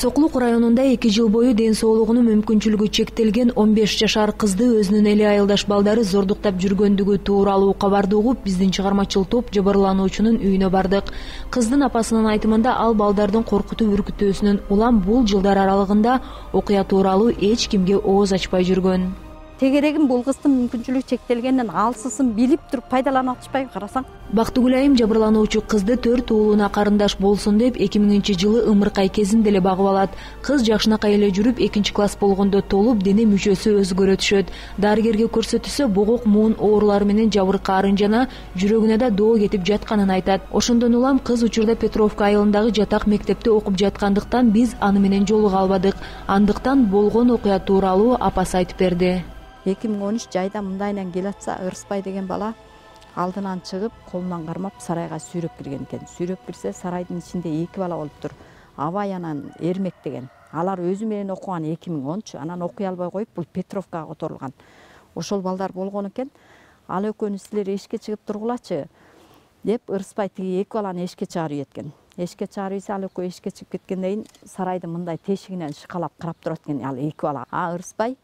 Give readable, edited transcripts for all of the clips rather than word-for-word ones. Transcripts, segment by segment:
Соклук районунда 2 жыл бою ден соолугунун мүмкүнчүлүгү чектелген 15 жашар кызды өзүнүн эле айылдаш балдары зордуктап жүргөндүгү тууралуу кабарды угуп, биздин чыгармачыл топ жабырлануучунун үйүнө бардык. Кыздын апасынын айтымында ал балдардын коркутуп үркүтүүсүнөн улам бул жылдар аралыгында окуя тууралуу эч кимге ооз ачпай жүргөн. Тегерегим бул кыздын мүмкүнчүлүгү чектелгенден алсысын билип туруп пайдаланып атышпайбы карасаң. Бактыгүл айым жабырлануучу кызды 4 уулуна карындаш болсун деп 2000-жылы ымыркай кезинде эле багып алат. Кыз жакшынакай эле жүрүп, 2-класс болгондо толуп, дене мүчөсү өзгөрө түшөт. Дарыгерге көрсөтүлсө, богок муун оорулары менен жабыркаарын жана жүрөгүнө да доо кетип жатканын айтат. Ошондон улам кыз учурда Петровка айылындагы жатак мектепте окуп жаткандыктан биз аны менен жолуга албадык. Андыктан болгон окуя тууралуу апасы айтып берди. 2013 жайда мындайынан келатса, Ырыспай деген бала алдынан чыгып, колунан кармап сарайга сүйрөп кирген экен. Сүйрөп кирсе, сарайдын ичинде 2 бала болуптур. Абай анан Эрмек деген. Алар өзү менен окуган 2010, анан окуй албай коюп, бул Петровкага которулган. Ошол балдар болгон экен. Ал экөөнүз силер эшикке чыгып тургулачы деп Ырыспай тиги 2 баланы эшикке чыгарып ийеткен. Эшикке чыгарып ийсе, ал экөө эшикке чыгып кеткенден кийин сарайдын мындай тешигинен шыкалап карап турат экен ал 2 бала. Ырыспай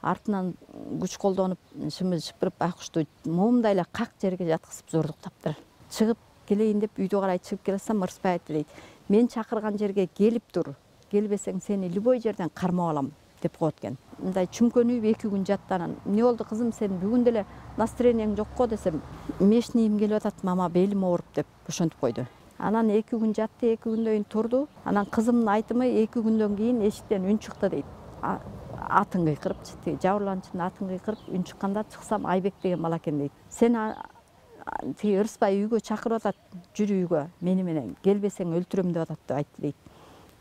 артынан күч колдонуп, шымы шыпырып, акушту момундай эле как жерге жаткызып зордуктаптыр. Чыгып келейин деп үйдө карай чыгып келсем, Ырыспай айтты дейт. Мен чакырган жерге келип тур. Келбесең сени любой жерден кармап алам деп коет экен. Мындай чүмкөнүп 2 күн жатты. Анан эмне болду кызым, сен бүгүн деле настроениең жокко десем, мешнийим келип атат, мама белим ооруп деп ошентип койду. Анан 2 күн жатты, 2 күндөн кийин турду. Анан кызымдын айтымы 2 күндөн кийин эшиктен үн чыкты дейт. Атын кыйкырыпчы, жабырлануучунун атын кыйкырып, үн чыкканда чыксам Айбек деген бала экен дейт. Сен тиги Ырыспай үйгө чакырып атат, жүр үйгө мени менен, келбесең өлтүрөм деп атат деп айтты дейт.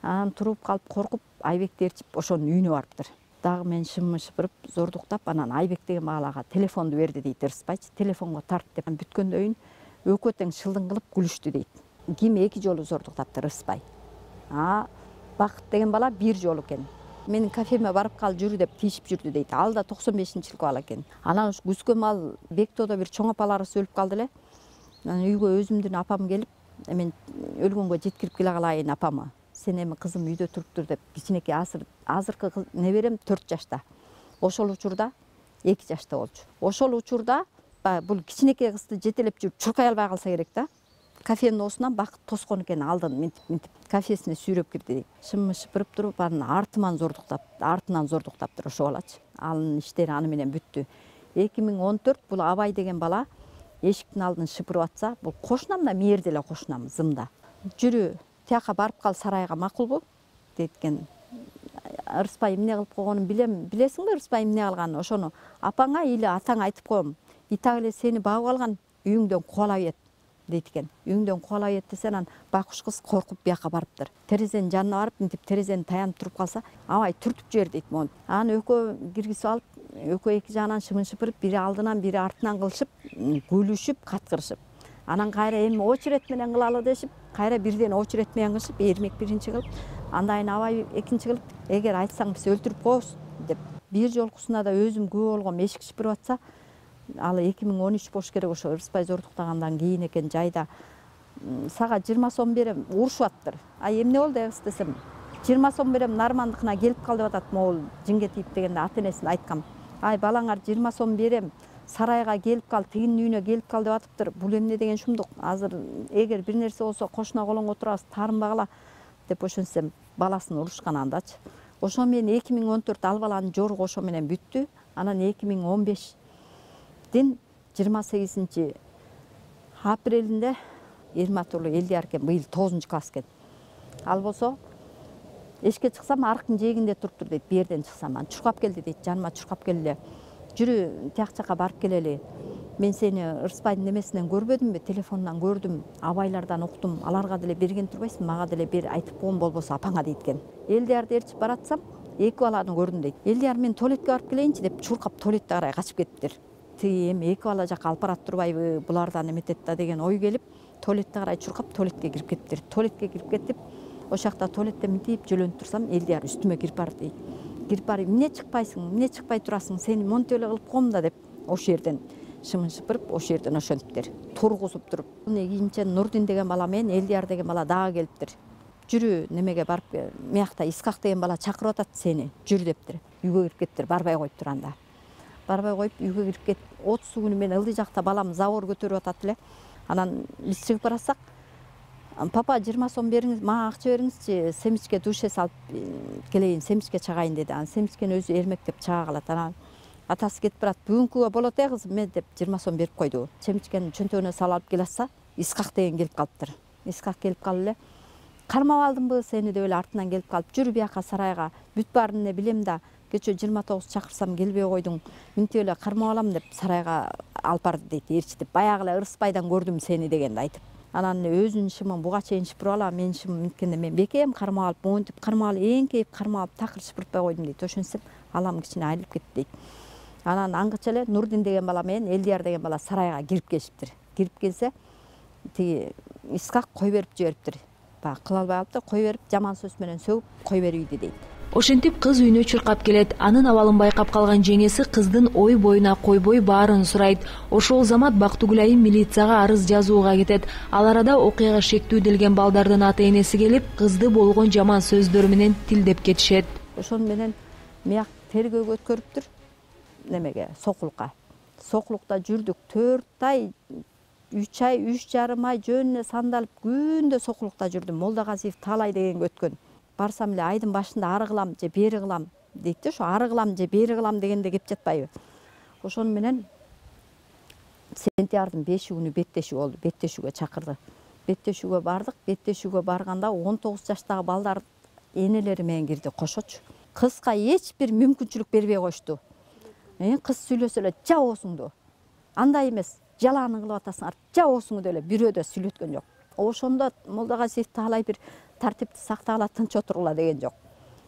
Анан туруп калып коркуп, Айбекти ээрчип ошонун үйүнө барыптыр. Дагы мен шымы шыпырып, зордуктап, анан Айбек деген балага телефонду берди дейт Ырыспайчы, телефонго тарт деп. Бүткөндөн кийин экөө тең шылдың кылып күлүштү дейт. Ким 2 жолу зордуктаптыр Ырыспай. Бакыт деген бала 1 жолу экен. Менин кафеме барып кал жүрү деп тийишип жүрдү дейт. Ал да 95-жылкы бала экен. Анан күзгө мал Бектоодо бир чоң апаларыбыз өлүп калды эле. Анан үйгө өзүмдүн апам келип, мен өлгөнгө жеткирип келе калайын апамы. Сен эми кызым үйдө туруптур деп, кичинекей азыркы неберем 4 жашта. Ошол учурда 2 жашта болчу. Ошол учурда бул кичинекей кызды жетелеп жүрүп чуркай албай калса керек да. Кафенин оосунан Бакыт тоскон экен, алдын минтип кафесине сүйрөп кирди дейт. Шымы шыпырып туруп, анын артынан зордуктаптыр ошо балачы. Анын иштери аны менен бүттү. 2014 бул Абай деген бала эшиктин алдын шыпырып атса, бул кошунам да мээрде эле кошунам, зымда. Жүрү, тияка барып кал сарайга, макулбу? Дейт экен. Ырыспай эмне кылып койгонун билем. Билесиңби Ырыспай эмне кылганын? Ошону апаңа или атаңа айтып коем. Итак эле сени багып алган, үйүңдөн кубалап ийет дейт экен. Үйүңдөн кубалап ийет десе, анан бакуш кыз коркуп бияка барыптыр. Терезенин жанына барып, мынтип терезени таянып туруп калса, Абай түртүп жибер дейт могу. Анан экөө киргизип алып, экөө 2 жагынан шымын шыпырып, бири алдынан, бири артынан кылышып, күлүшүп, каткырышып. Анан кайра эми очерет менен кылалы дешип, кайра бирден очерет менен кылышып, Эрмек 1-чи кылып, андан кийин Абай 2-чи кылып, эгер айтсаң биз өлтүрүп коебуз деп. Бир жолкусуна да өзүм күбө болгом, эшик шыпырып атса, ал 2013 болуш керек, ошо Ырыспай зордуктагандан кийин экен. Жайда сага 20 сом берем, урушуптыр. Эмне болду кыз десем, 20 сом берем, Нармандыкына келип кал деп атат, могул Жиңгетиев дегенде ата-энесине айткам. Балаңар 20 сом берем, сарайга келип кал, тигинин үйүнө келип кал деп атыптыр. Бул эмне деген шумдук? Азыр эгер бир нерсе болсо кошуна колоңго турабыз, таарынбагыла деп ошентсем, баласын урушкан андачы. Ошо менен 2014 ал баланын жоругу ошо менен бүттү. Анан 2015 28 апрелинде Эрмат уулу Элдияр экен, быйыл 9-класс экен. Ал болсо эшикке чыксам, арктын жээгинде туруптур дейт. Бу жерден чыксам, анан чуркап келди дейт, жаныма чуркап келди. Жүрү, тияк жака барып келели. Мен сени Ырыспайдын немесинен көрбөдүмбү? Телефонунан көрдүм, Абайлардан уктум. Аларга деле берген турбайсың, мага деле бер, айтып койгон болбосо апаңа дейт экен. Элдиярды ээрчип баратсам, 2 баланы көрдүм дейт. Элдияр, мен туалетке барып келейинчи деп чуркап туалетке карай качып кетиптир. Эми 2 бала жака алып барат турбайбы, булардан эметет да деген ой келип, туалетке карай чуркап туалетке кирип кетиптир. Туалетке кирип кетип, ошол жакта туалетте мынтип жөлөнүп турсам, Элдияр үстүмө кирип барды дейт. Кирип барып, эмне чыкпайсың, эмне чыкпай турасың, сени монтип эле кылып коем да деп, ошол жерден шымын шыпырып, ошол жерден ошентиптир. Тургузуп туруп. Кийинче Нурдин деген бала менен Элдияр деген бала дагы келиптир. жүрү немеге барып мыякта Искак деген бала чакырып атат сени, жүр дептир. Үйгө кирип кеттир, барбай коюптур анда. Барбай коюп үйгө кирип кет. 30 күнү мен ылдый жакта балам забор көтөрүп атат эле. Анан биз чыгып барасак, папа 20 сом бериңиз, мага акча бериңизчи, семичке душе салып келейин, семичке чагайын деди. Анан семичкени өзү эрмектеп чага калат. Анан атасы кетип барат. Бүгүнкүгө болот кызым мен деп 20 сом берип койду. Семичкени чөнтөгүнө салып алып келатса, Искак деген келип калыптыр. Искак келип калып эле кармап алдымбы сени деп эле артынан келип калып, жүр бияка сарайга, бүт баарын эле билем да, кечээ 29 чакырсам келбей койдуң, минтип эле кармап алам деп сарайга алып барды дейт, ээрчитип. Баягы эле Ырыспайдан көрдүм сени дегенди айтып. Анан өзүнүн шымын буга чейин шыпырып алам, менин шымым минткенде мен бекем кармап алып, монтип кармап алып, эңкейип кармап алып, такыр шыпыртпай койдум дейт. Ошентсем алам кичине айылып кетти дейт. Анан аңгыча эле Нурдин деген бала менен Элдияр деген бала сарайга кирип келишиптир. Кирип келсе, тиги Искак кой берип жибериптир. Баягы кыла албай калыптыр, кой берип, жаман сөз менен сөгүп кой берип ийди дейт. Ошентип кыз үйүнө чуркап келет. Анын абалын байкап калган жеңеси кыздын ой боюна койбой баарын сурайт. Ошол замат Бактыгүл айым милицияга арыз жазууга кетет. Ал арада окуяга шектүү делген балдардын ата-энеси келип, кызды болгон жаман сөздөр менен тилдеп кетишет. Ошону менен мияк тергөөгө өткөрүптүр немеге, Сокулукка. Сокулукта жүрдүк 4 ай, 3 ай, 3,5 ай жөнүнө сандалып күндө Сокулукта жүрдүм. Молдагазиев Таалай дегенге өткөн. Барсам эле айдын башында ары кылам же бери кылам дейт да, ошо ары кылам же бери кылам дегенде кеп жатпайбы. Ошону менен сентябрдын 5 күнү беттешүү болду. Беттешүүгө чакырды. Беттешүүгө бардык. Беттешүүгө барганда 19 жаштагы балдар энелери менен кирди кошочу. Кызга эч бир мүмкүнчүлүк бербей коюшту. Кыз сүйлөсө эле жабоосуңду. Андай эмес, жалааны кылып атасыңар, жабоосуңду деп эле бирөө да сүйлөткөн жок. Ошондо Молдагазиев Таалай бир тартипти сактагыла, тынч отургула деген жок.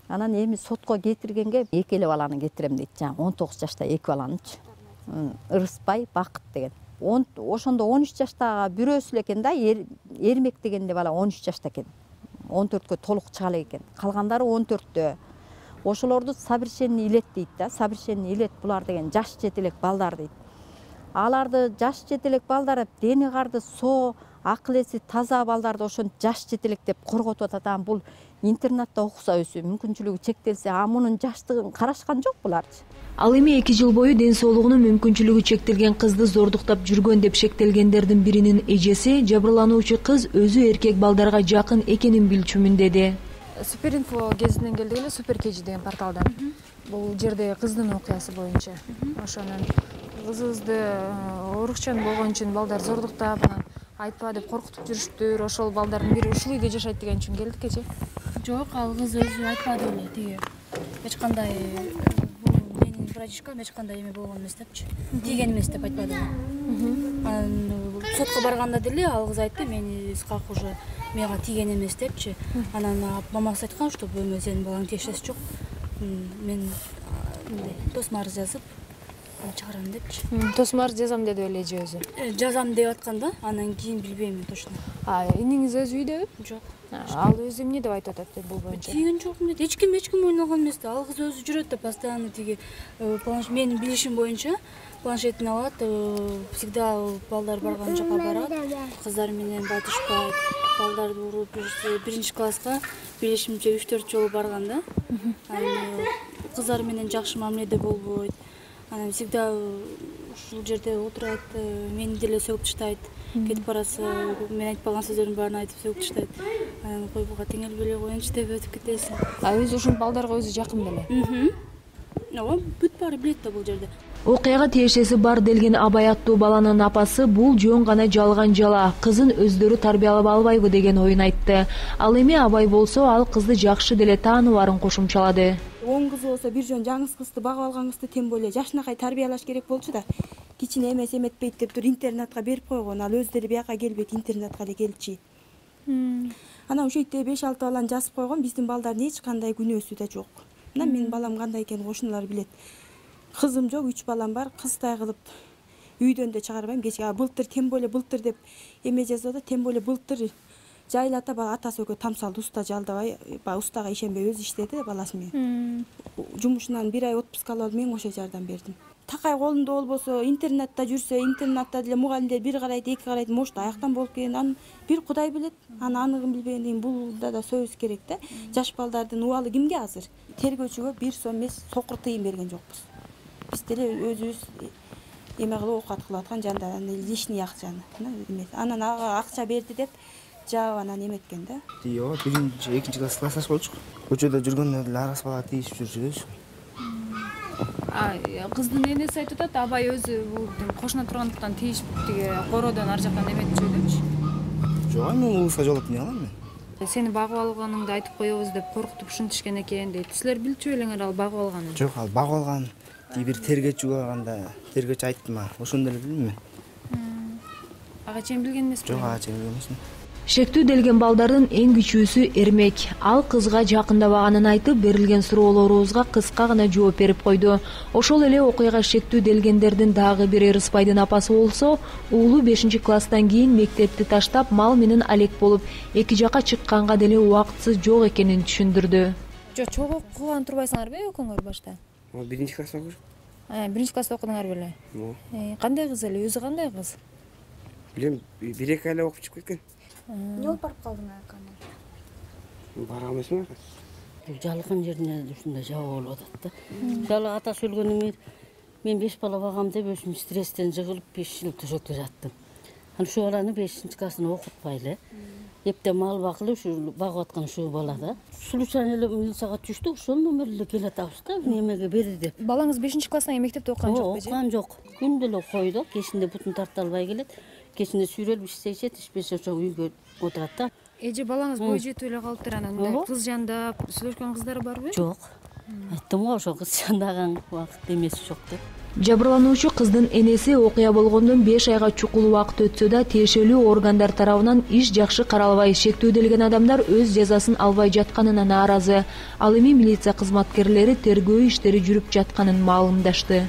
Анан эми сотко кетиргенге 2 эле баланы кетирем дейт. Жаңы 19 жашта 2 баланычы. Ырыспай, Бакыт деген. Ошондо 13 жаштагы бирөөсү эле экен да, Эрмек деген бала 13 жашта экен. 14кө толук чыга элек экен. Калгандары 14тө. Ошолорду совершенный илет дейт да. Совершенный илет булар деген жаш жетелек балдар дейт. Аларды жаш жетелек балдар дени карды соо, акыл эси таза балдарды ошентип жаш жетелек деп корготуп атат. Бул интернатта окуса өзү мүмкүнчүлүгү чектелсе, мунун жаштыгын карашкан жок буларчы. Ал эми 2 жыл бою ден соолугунун мүмкүнчүлүгү чектелген кызды зордуктап жүргөн деп шектелгендердин биринин эжеси жабырлануучу кыз өзү эркек балдарга жакын экенин билчүмүн деди. Суперинфо гезитинен келдик эле, Супер Кежи деген порталдан. Бул жерде кыздын окуясы боюнча. Ошонун кызыбызды урукчан болгон үчүн балдар зордуктап, анан айтпа деп коркутуп жүрүштүр. Ошол балдардын бири ушул үйдө жашайт деген үчүн келдик кече. Жок, ал кыз өзү айтпады эле, тиги эч кандай бул менин братишкам эч кандай эме болгон эмес депчи. Тийген эмес деп айтпады. Анан сотко барганда деле ал кыз айтты, мен Искак уже мага тийген эмес депчи. Анан мамасы айткан, что эме сенин балаңдын эч жок. Мен тосмо арыз жазып чыгарам депчи. Тосмо арыз жазам деди эле эже өзү. Жазам деп аткан да, анан кийин билбейм точно. Иниңиз өзү үйдөбү? Жок. Ал өзү эмне деп айтып атат бул боюнча? Тийген жокмун дейт. Эч ким ойногон алган эмес да. Ал кыз өзү жүрөт да, постоянно тиги менин билишим боюнча планшетин алат, всегда балдар барган жака барат, кыздар менен батышпайт, балдарды уруп, 1-класска билишимче 3-4 жолу барган да. Анан кыздар менен жакшы мамиледе болбойт. Анан всегда ушул жерде отурат, мени деле сөгүп таштайт. Кетип барасы, мен айтпаган сөздөрдүн баарын айтып сөгүп таштайт. Анан кой буга теңелбей эле коеюнчу деп өтүп кетесиң. Өзү ушул балдарга өзү жакын беле? Ооба, бүт баары билет да бул жерде. Окуяга тиешеси бар делген Абай аттуу баланын апасы бул жөн гана жалган жала, кызын өздөрү тарбиялап албайбы деген оюн айтты. Ал эми Абай болсо ал кызды жакшы деле тааныбаарын кошумчалады. 10 кыз болсо бир жөн жаңыз кызды багып алган кызды тем более жашынакай тарбиялаш керек болчу да. Кичине эмес эметпейт деп тур интернатка берип койгон. Ал өзү деле бияка келбейт, интернатка эле келчи. Анан ошол жерде 5-6 баланы жазып койгон, биздин балдардын эч кандай күнөөсү да жок. Мына менин балам кандай экенин кошуналар билет. Кызым жок, 3 балам бар, кыздай кылып үйдөн да чыгарбайм. Кече былтыр тем более былтыр деп эме жазып атат, тем более былтыр жайлата бала атасы экөө тамсалды, уста жалдабай, устага ишенбей өзү иштеди баласы менен. Жумушунан 1 ай отпуска алып мен ошо жардам бердим. такай колунда болбосо, интернатта жүрсө, интернатта деле мугалимдер бир карайт, эки карайт, может аяктан болуп келген. Анын бир Кудай билет. Анығын билбегенден кийин булда да сөз керек да. Жаш балдардын убалы кимге азыр? Тергөөчүгө 1 сом эмес, сокур тыйын берген жокпуз. Биз деле өзүбүз эме кылып оокат кылып аткан жандар, лишний акчаны эме. Анан ага акча берди деп жаап анан эметкен да. Ооба, 1-2 классташ болчук. Көчөдө жүргөндө деле арас бала тийишип жүрчүбүз. Кыздын энеси айтып атат, абай өзү бул кошуна тургандыктан тийишип тиги короодон ар жактан эметчү депчи. Жок, мен улуска жолоп эмне алам мен? Сени багып алганыңды айтып коебуз деп коркутуп ушинтишкен экен дейт. Силер билчү белеңер ал багып алганын? Жок, ал багып алган. Бир тергөөчү барганда, тергөөчү айтты мага. Ошондо эле билдим мен. Ага чейин билген эмеспи? Жок, ага чейин билген эмесмин. Шектүү делген балдардын эң күчүүсү Эрмек. Ал кызга жакындабаганын айтып, берилген суроолорубузга кыска гана жооп берип койду. Ошол эле окуяга шектүү делгендердин дагы бири Рыспайдын апасы болсо, уулу 5-класстан кийин мектепти таштап, мал менен алек болуп, эки жака чыкканга деле убактысы жок экенин түшүндүрдү. Жок, чогуу кылган турбайсыңарбы экөөңөр башта? 1-класста окуйм. 1-класста окудуңар беле? Кандай кыз эле? Өзү кандай кыз? Билем, 1-2 айлап окуп чыгып кеткен. Эмне болуп барып калдың аканы? Бара эмесмин. Жалган жерине ушундай жабуу болуп атат да. Жалы атасы өлгөндөн мен 5 бала багам деп өзүм стресстен жыгылып 5 жыл төшөктө жаттым. Аны ушу баланы 5-классын окутпай эле эптен мал багылып ушу багып аткан ушу бала да. Случайно эле милицияга түштү, ошондон бери эле келатабыз да, немеге бери деп. Балаңыз 5-класстан кийин мектепте окуган жокпу? Окуган жок. Күндө эле койдо, кечинде бутун тарта албай келет. Кечинде сүйрөлүп иштешет, ишпесе ошо үйгө отурат да. Эже балаңыз бой жетип эле калыптыр, анан мындай кыз жандап сүйлөшкөн кыздары барбы? Жок. Айттым го, ошо кыз жандаган убакыт эмеси жок деп. Жабырлануучу кыздын энеси окуя болгондон 5 айга чукул убакыт өтсө да, тиешелүү органдар тарабынан иш жакшы каралбай, шектүү делген адамдар өз жазасын албай жатканына нааразы. Ал эми милиция кызматкерлери тергөө иштери жүрүп жатканын маалымдашты.